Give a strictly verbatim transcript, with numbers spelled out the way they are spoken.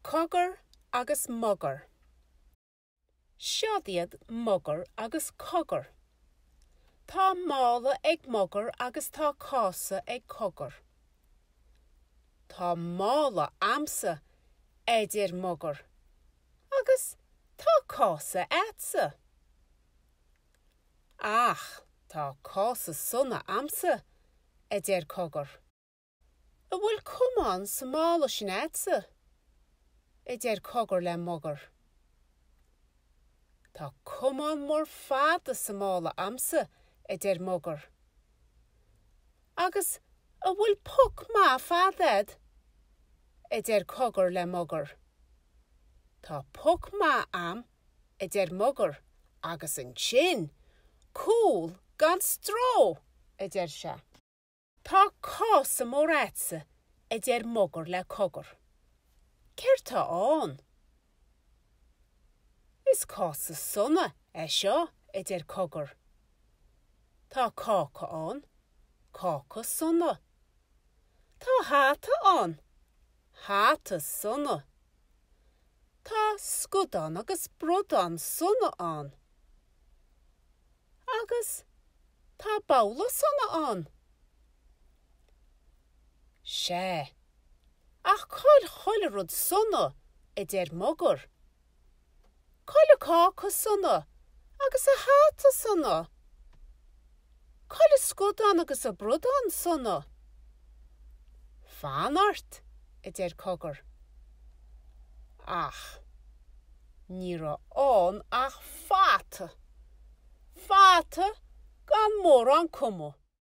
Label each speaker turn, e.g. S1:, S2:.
S1: Cogar agus Mogar. Seod iad Mogar agus Cogar. Tá mála ag Mogar agus tá cása ag Cogar. Tá mála a'msa, a deir Mogar, agus tá cása a'dsa. Ach tá cása sona a'msa, a deir Cogar. An bhfuil camán sa mála sin a'dsa? a deir Cogar le Mogar. Tá camán mór fada sa mála a'msa, a deir Mogar. Agus an bhfuil poc maith fada a'd? a deir Cogar le Mogar. Tá poc maith a'm, a deir Mogar, agus ansin, cúl gan stró, a deir sé. Tá cása mór a'dsa, a deir Mogar le Cogar. Céard tá ann? Is cása sona é seo, a deir Cogar. Tá cáca ann, cáca sona. Tá hata ann, hata sona. Tá scadán agus bradán sona ann. Agus tá babhla sona ann. Sea, ach cá bhfuil chuile rud sona, a deir Mogar. Cá bhfuil an cáca sona agus an hata sona. Cá bhfuil an scadán agus an bradán sona. Fan ort, a deir Cogar. Ach ní raibh ann ach fata. Fata gan mórán cuma.